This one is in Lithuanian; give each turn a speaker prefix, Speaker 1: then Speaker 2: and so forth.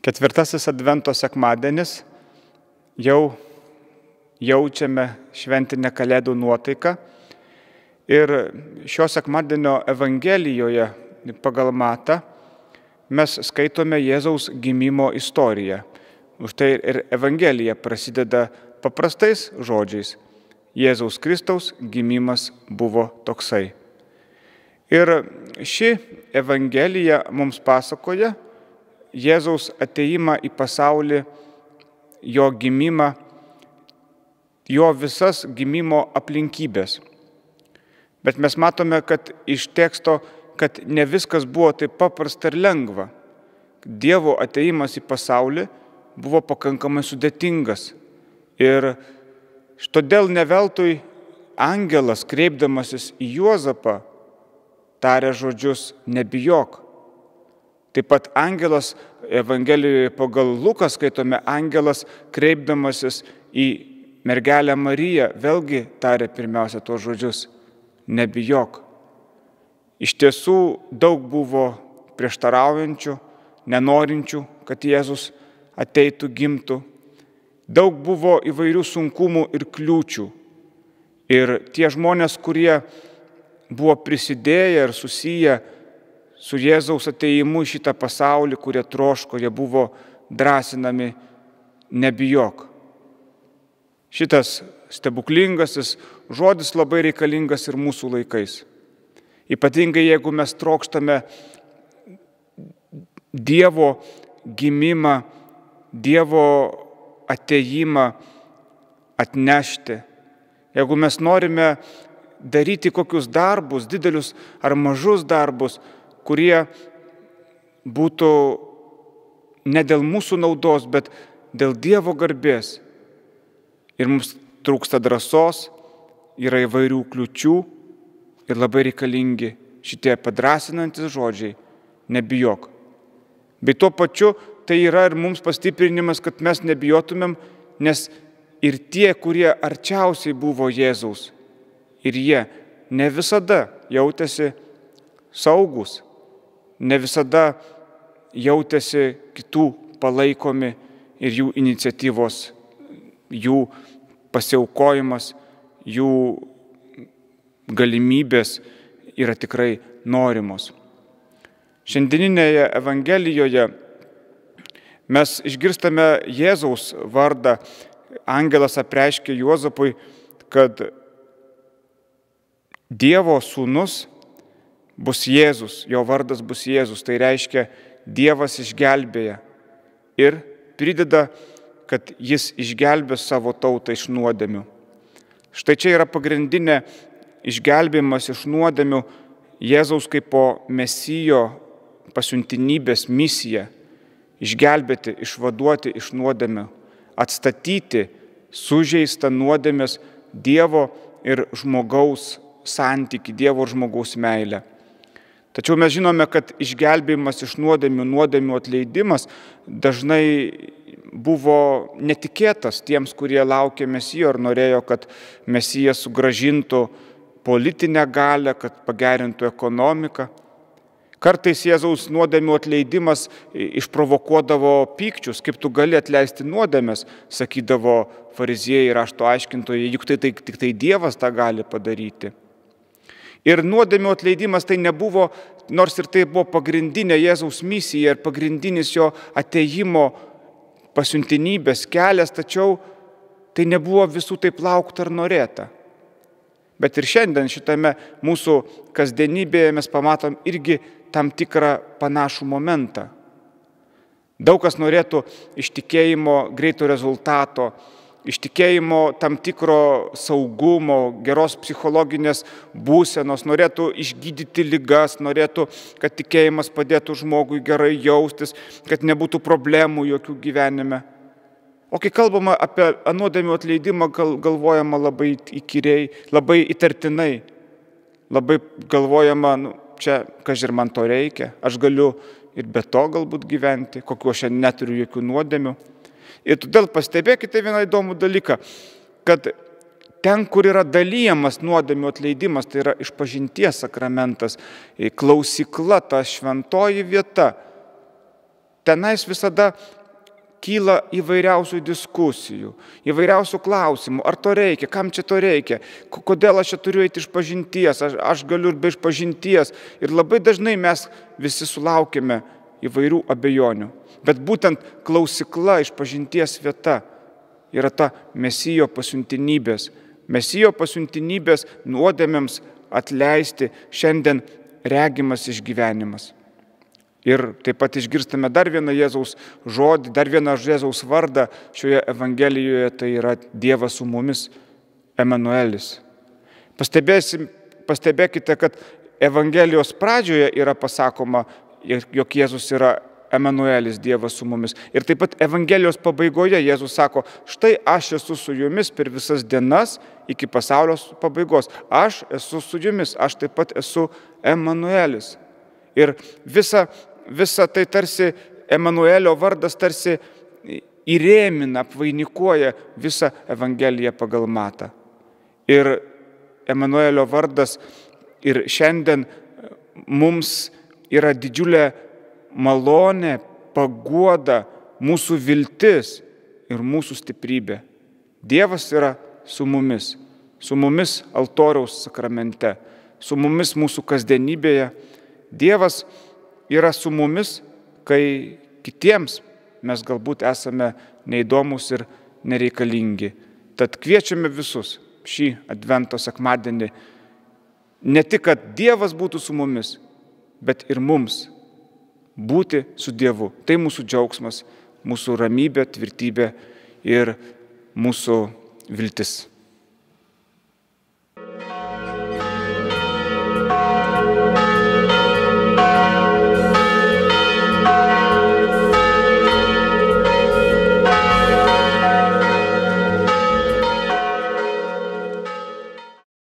Speaker 1: Ketvirtasis Advento sekmadienis, jau jaučiame šventinę Kalėdų nuotaiką ir šio sekmadienio Evangelijoje pagal Matą mes skaitome Jėzaus gimimo istoriją. Už tai ir Evangelija prasideda paprastais žodžiais. Jėzaus Kristaus gimimas buvo toksai. Ir ši Evangelija mums pasakoja Jėzaus ateimą į pasaulį, jo gimimą, jo visas gimimo aplinkybės. Bet mes matome, kad iš teksto, kad ne viskas buvo taip paprasta ir lengva. Dievo ateimas į pasaulį buvo pakankamai sudėtingas. Ir todėl ne veltui angelas, kreipdamasis į Juozapą, tarė žodžius nebijok. Taip pat angelas, Evangelijoje pagal Luką skaitome, angelas kreipdamasis į mergelę Mariją vėlgi tarė pirmiausia tuos žodžius nebijok. Iš tiesų daug buvo prieštaraujančių, nenorinčių, kad Jėzus ateitų, gimtų. Daug buvo įvairių sunkumų ir kliūčių. Ir tie žmonės, kurie buvo prisidėję ir susiję su Jėzaus ateimu į šitą pasaulį, kurie troško, jie buvo drąsinami nebijok. Šitas stebuklingasis žodis labai reikalingas ir mūsų laikais. Ypatingai jeigu mes trokštame Dievo gimimą, Dievo ateimą atnešti. Jeigu mes norime daryti kokius darbus, didelius ar mažus darbus, kurie būtų ne dėl mūsų naudos, bet dėl Dievo garbės. Ir mums trūksta drąsos, yra įvairių kliūčių ir labai reikalingi šitie padrasinantis žodžiai nebijok. Bei tuo pačiu tai yra ir mums pastiprinimas, kad mes nebijotumėm, nes ir tie, kurie arčiausiai buvo Jėzaus, ir jie ne visada jautėsi saugus, ne visada jautėsi kitų palaikomi ir jų iniciatyvos, jų pasiaukojimas, jų galimybės yra tikrai norimos. Šiandieninėje Evangelijoje mes išgirstame Jėzaus vardą. Angelas apreiškė Juozapui, kad Dievo sūnus bus Jėzus, jo vardas bus Jėzus, tai reiškia Dievas išgelbėja ir prideda, kad jis išgelbės savo tautą iš nuodėmių. Štai čia yra pagrindinė išgelbėjimas iš nuodėmių Jėzaus kaip po Mesijo pasiuntinybės misija – išgelbėti, išvaduoti iš nuodėmių, atstatyti sužeistą nuodėmės Dievo ir žmogaus santykį, Dievo ir žmogaus meilę. Tačiau mes žinome, kad išgelbėjimas iš nuodėmių atleidimas dažnai buvo netikėtas tiems, kurie laukė Mesijo ir norėjo, kad Mesijas sugrąžintų politinę galią, kad pagerintų ekonomiką. Kartais Jėzaus nuodėmių atleidimas išprovokuodavo pykčius, kaip tu gali atleisti nuodėmes, sakydavo fariziejai ir rašto aiškintojai, juk tai tik tai Dievas tą gali padaryti. Ir nuodėmių atleidimas tai nebuvo, nors ir tai buvo pagrindinė Jėzaus misija ir pagrindinis jo ateimo pasiuntinybės kelias, tačiau tai nebuvo visų taip laukta ar norėta. Bet ir šiandien šitame mūsų kasdienybėje mes pamatom irgi tam tikrą panašų momentą. Daug kas norėtų iš tikėjimo greito rezultato, iš tikėjimo tam tikro saugumo, geros psichologinės būsenos, norėtų išgydyti ligas, norėtų, kad tikėjimas padėtų žmogui gerai jaustis, kad nebūtų problemų jokių gyvenime. O kai kalbama apie nuodėmių atleidimą, galvojama labai įkyriai, labai įtartinai, labai galvojama, čia, kažin man to reikia, aš galiu ir be to galbūt gyventi, kokiu aš neturiu jokių nuodėmių. Ir todėl pastebėkite vieną įdomų dalyką, kad ten, kur yra dalyjamas nuodėmių atleidimas, tai yra išpažinties sakramentas, klausykla, ta šventoji vieta, tenais visada kyla įvairiausių diskusijų, įvairiausių klausimų, ar to reikia, kam čia to reikia, kodėl aš čia turiu eiti iš pažinties, aš galiu ir be išpažinties. Ir labai dažnai mes visi sulaukime įvairių abejonių. Bet būtent klausykla, išpažinties vieta yra ta Mesijo pasiuntinybės. Mesijo pasiuntinybės nuodėmėms atleisti šiandien regimas išgyvenimas. Ir taip pat išgirstame dar vieną Jėzaus žodį, dar vieną Jėzaus vardą šioje Evangelijoje, tai yra Dievas su mumis, Emanuelis. Pastebėkite, kad Evangelijos pradžioje yra pasakoma, jog Jėzus yra Emanuelis, Dievas su mumis. Ir taip pat Evangelijos pabaigoje Jėzus sako, štai aš esu su jumis per visas dienas iki pasaulio pabaigos. Aš esu su jumis, aš taip pat esu Emanuelis. Ir visa tai tarsi Emanuelio vardas tarsi įrėmina, apvainikuoja visą Evangeliją pagal Matą. Ir Emanuelio vardas ir šiandien mums yra didžiulė malonė, paguoda, mūsų viltis ir mūsų stiprybė. Dievas yra su mumis altoriaus sakramente, su mumis mūsų kasdienybėje. Dievas yra su mumis, kai kitiems mes galbūt esame neįdomus ir nereikalingi. Tad kviečiame visus šį Advento sekmadienį ne tik, kad Dievas būtų su mumis, bet ir mums būti su Dievu. Tai mūsų džiaugsmas, mūsų ramybė, tvirtybė ir mūsų viltis.